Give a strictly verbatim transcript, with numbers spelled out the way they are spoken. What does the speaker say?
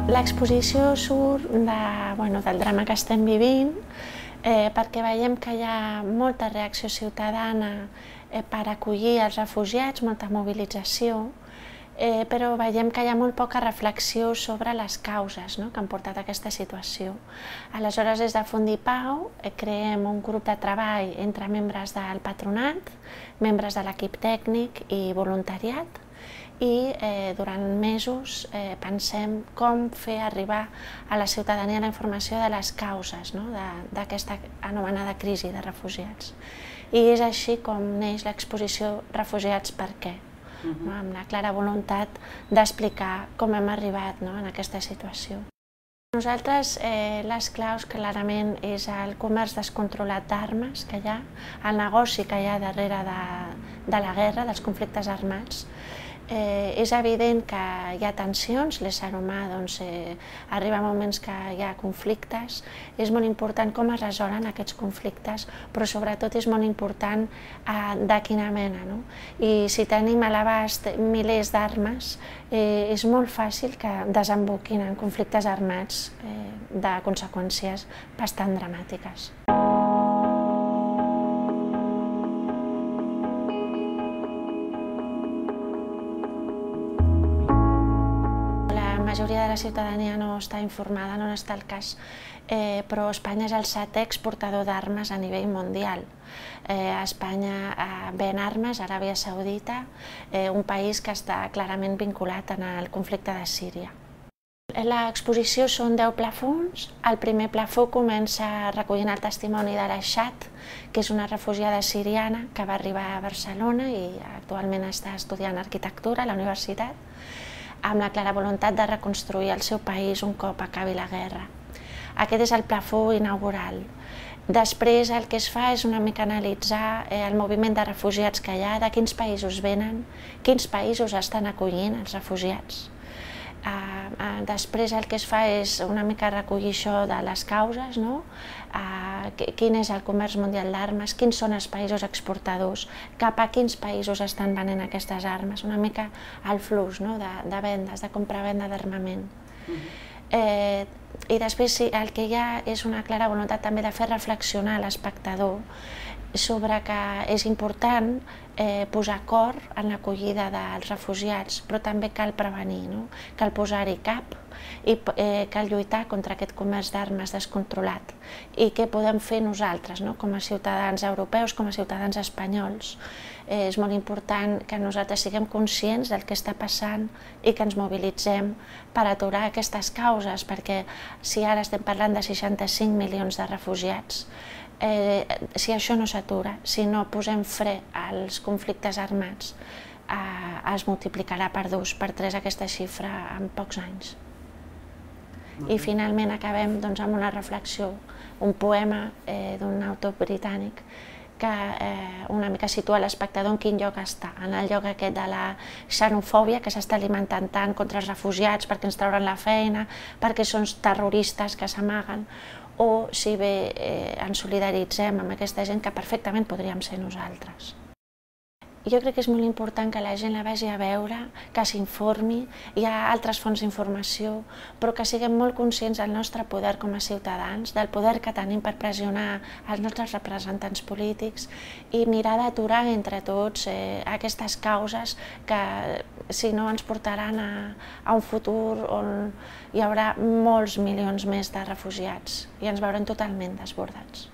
L'exposició surt de, bueno, del drama que estem vivint, eh, perquè veiem que hi ha molta reacció ciutadana eh, per acollir els refugiats, molta mobilització, eh, però veiem que hi ha molt poca reflexió sobre les causes, no?, que han portat a aquesta situació. Aleshores, des de Fundipau eh, creem un grup de treball entre membres del patronat, membres de l'equip tècnic i voluntariat, i eh, durant mesos eh, pensem com fer arribar a la ciutadania la informació de les causes, no?, d'aquesta anomenada crisi de refugiats. I és així com neix l'exposició Refugiats per què, uh-huh. no?, amb la clara voluntat d'explicar com hem arribat, no?, en aquesta situació. Nosaltres eh, les claus clarament és el comerç descontrolat d'armes que hi ha, el negoci que hi ha darrere de, de la guerra, dels conflictes armats. Eh, és evident que hi ha tensions, l'ésser humà doncs, eh, arriba a moments que hi ha conflictes, és molt important com es resolen aquests conflictes, però sobretot és molt important eh, de quina mena, no? I si tenim a l'abast milers d'armes, eh, és molt fàcil que desemboquin en conflictes armats eh, de conseqüències bastant dramàtiques. La majoria de la ciutadania no està informada, no està al cas, eh, però Espanya és el setè exportador d'armes a nivell mundial. Eh, Espanya eh, ven armes a Aràbia Saudita, eh, un país que està clarament vinculat al conflicte de Síria. L'exposició són deu plafons. El primer plafó comença recollint el testimoni de l'Aixat, que és una refugiada siriana que va arribar a Barcelona i actualment està estudiant arquitectura a la universitat, amb la clara voluntat de reconstruir el seu país un cop acabi la guerra. Aquest és el plafó inaugural. Després el que es fa és una mica analitzar el moviment de refugiats que hi ha, de quins països venen, quins països estan acollint els refugiats. Després el que es fa és una mica recollir això de les causes, no? Quin és el comerç mundial d'armes, quins són els països exportadors, cap a quins països estan venent aquestes armes, una mica el flux, no?, de, de vendes, de compra-venda d'armament. Uh-huh. eh, I després el que hi ha és una clara voluntat també de fer reflexionar l'espectador sobre que és important eh, posar cor en l'acollida dels refugiats, però també cal prevenir, no? Cal posar-hi cap i eh, cal lluitar contra aquest comerç d'armes descontrolat. I què podem fer nosaltres, no?, com a ciutadans europeus, com a ciutadans espanyols. Eh, és molt important que nosaltres siguem conscients del que està passant i que ens mobilitzem per aturar aquestes causes, perquè si ara estem parlant de seixanta-cinc milions de refugiats, Eh, si això no s'atura, si no posem fre als conflictes armats, eh, es multiplicarà per dos, per tres aquesta xifra en pocs anys. I finalment acabem doncs, amb una reflexió, un poema eh, d'un autor britànic que eh, una mica situa l'espectador en quin lloc està, en el lloc aquest de la xenofòbia que s'està alimentant tant contra els refugiats perquè ens trauran la feina, perquè són terroristes que s'amaguen, o si bé eh, ens solidaritzem amb aquesta gent que perfectament podríem ser nosaltres. Jo crec que és molt important que la gent la vagi a veure, que s'informi, hi ha altres fonts d'informació, però que siguem molt conscients del nostre poder com a ciutadans, del poder que tenim per pressionar els nostres representants polítics i mirar d'aturar entre tots eh, aquestes causes que, si no, ens portaran a, a un futur on hi haurà molts milions més de refugiats i ens veurem totalment desbordats.